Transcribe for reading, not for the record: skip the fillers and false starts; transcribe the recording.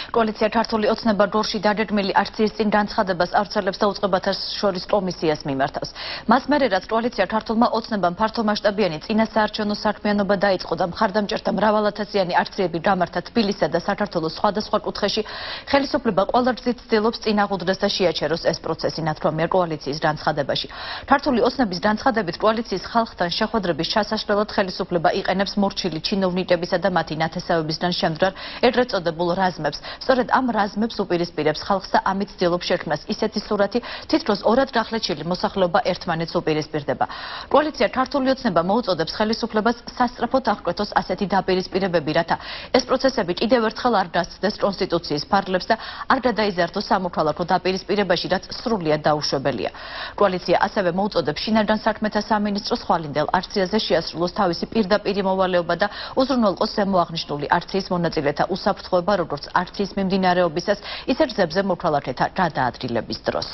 კოალიცია ქართული ოცნება რგოლში დაგეგმილი აქციის წინ განცხადებას ავრცელებს და უწყებათა შორის კომისიას მიმართავს. მას მერე რაც კოალიცია ქართულმა ოცნებამ ფართომასშტაბიანი წინასაარჩევნო საქმიანობა დაიწყო და მხარდამჭერთა მრავალათასიანი აქციები გამართა თბილისსა და საქართველოს სხვადასხვა კუთხეში, ხელისუფლება ყველა გზით ცდილობს წინაღუდდეს და შეაჩეროს ეს პროცესი, ნათქვამია კოალიციის განცხადებაში. ქართული ოცნების განცხადებით კოალიციის ხალხთან შეხვედრების ჩასაშლელად ხელისუფლება იყენებს მორჩილი ჩინოვნიკებისა და მათი ნათესავებისგან შემდგარ ეგრეთ წოდებულ რაზმებს. სწორედ ამ რაზმებს უპირისპირებს ხალხს და ამით ცდილობს შექმნას ისეთი სურათი, თითქოს ორად გახლეჩილი მოსახლეობა ერთმანეთს უპირისპირდება. კოალიცია ქართული ოცნება მოუწოდებს ხელისუფლებას სასწრაფოდ აღკვეთოს ასეთი დაპირისპირებები, რათა ეს პროცესები კიდევ ერთხელ არ დასცდეს კონსტიტუციის ფარგლებს და არ გადაიზარდოს სამოქალაქო დაპირისპირებაში, რაც სრულიად დაუშვებელია. კოალიცია ასევე მოუწოდებს შინაგან საქმეთა სამინისტროს ხვალინდელ აქციაზე შეასრულოს თავისი პირდაპირი მოვალეობა და უზრუნველყოს ზემოაღნიშნული აქციის მონაწილეთა უსაფრთხოება, როგორც აქციის მიმდინარეობისას, ისე გზებზე მოქალაქეთა გადაადგილების დროს.